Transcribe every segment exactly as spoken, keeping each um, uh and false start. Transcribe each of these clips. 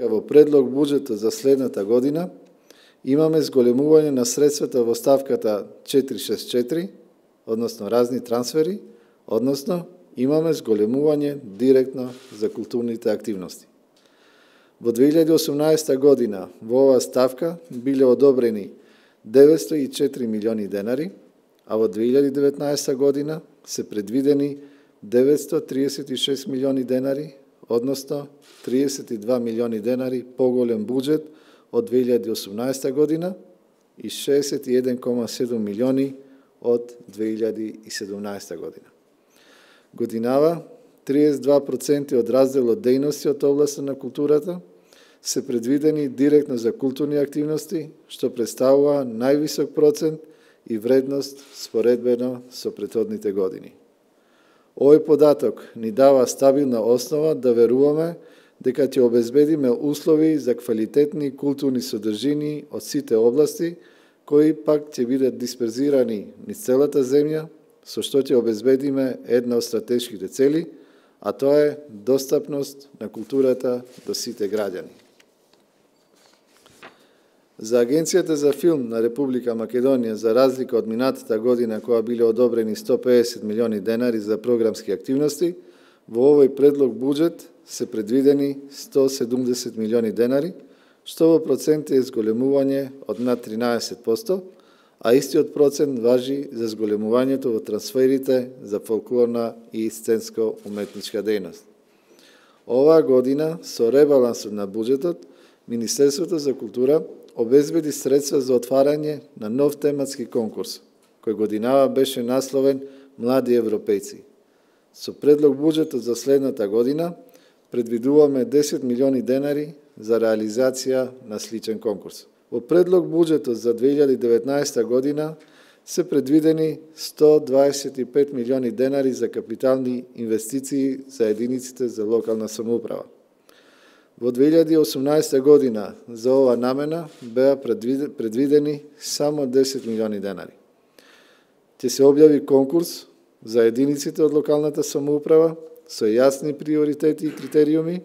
во предлог буџетот за следната година имаме зголемување на средствата во ставката четири шест четири, односно разни трансфери, односно имаме зголемување директно за културните активности. Во две илјади и осумнаесета година во оваа ставка биле одобрени деветсто и четири милиони денари, а во две илјади и деветнаесета година се предвидени деветсто триесет и шест милиони денари, односно триесет и два милиони денари поголем буџет од две илјади и осумнаесета година и шеесет и еден кома седум милиони од две илјади и седумнаесета година. Годинава, триесет и два проценти од разделот дејности од областта на културата се предвидени директно за културни активности, што представува највисок процент и вредност споредбено со претходните години. Овој податок ни дава стабилна основа да веруваме дека ќе обезбедиме услови за квалитетни културни содржини од сите области, кои пак ќе бидат дисперзирани низ целата земја, со што ќе обезбедиме една од стратешките цели, а тоа е достапност на културата до сите граѓани. За Агенцијата за филм на Република Македонија, за разлика од минатата година која биле одобрени сто педесет милиони денари за програмски активности, во овој предлог буџет се предвидени сто седумдесет милиони денари, што во проценти е зголемување од над тринаесет проценти, а истиот процент важи за зголемувањето во трансферите за фолклорна и сценско-уметничка дејност. Оваа година, со ребалансот на буџетот, Министерството за култура обезбеди средства за отварање на нов тематски конкурс, кој годинава беше насловен Млади европејци. Со предлог буџетот за следната година предвидуваме десет милиони денари за реализација на сличен конкурс. Во предлог буџетот за две илјади и деветнаесета година се предвидени сто дваесет и пет милиони денари за капитални инвестиции за единиците за локална самоуправа. Во две илјади и осумнаесета година за ова намена беа предвидени само десет милиони денари. Ќе се објави конкурс за единиците од локалната самоуправа со јасни приоритети и критериуми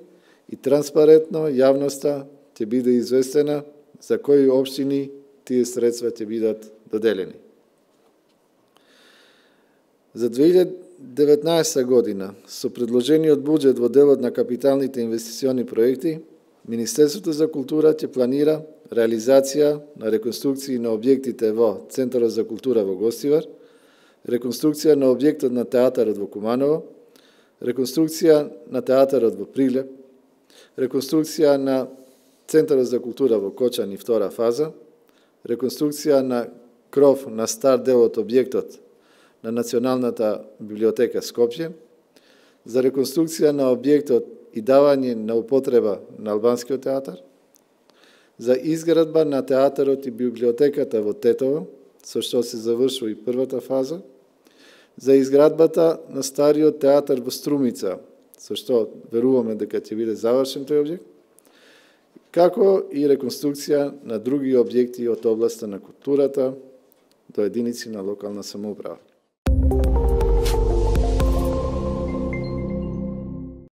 и транспарентно јавноста ќе биде известена за кои општини тие средства ќе бидат доделени. За две илјади и деветнаесета година, со предложениот буџет во делот на капиталните инвестициони проекти, Министерството за култура ќе планира реализација на реконструкции на објектите во Центарот за култура во Гостивар, реконструкција на објектот на театарот во Куманово, реконструкција на театарот во Прилеп, реконструкција на Центарот за култура во Кочани втора фаза, реконструкција на кров на стар дел од објектот на Националната библиотека Скопје, за реконструкција на објектот и давање на употреба на албанскиот театар, за изградба на театарот и библиотеката во Тетово, со што се завршува и првата фаза, за изградбата на стариот театар во Струмица, со што веруваме дека ќе биде завршен тој објект, како и реконструкција на други објекти од областта на културата до единици на локална самоуправа.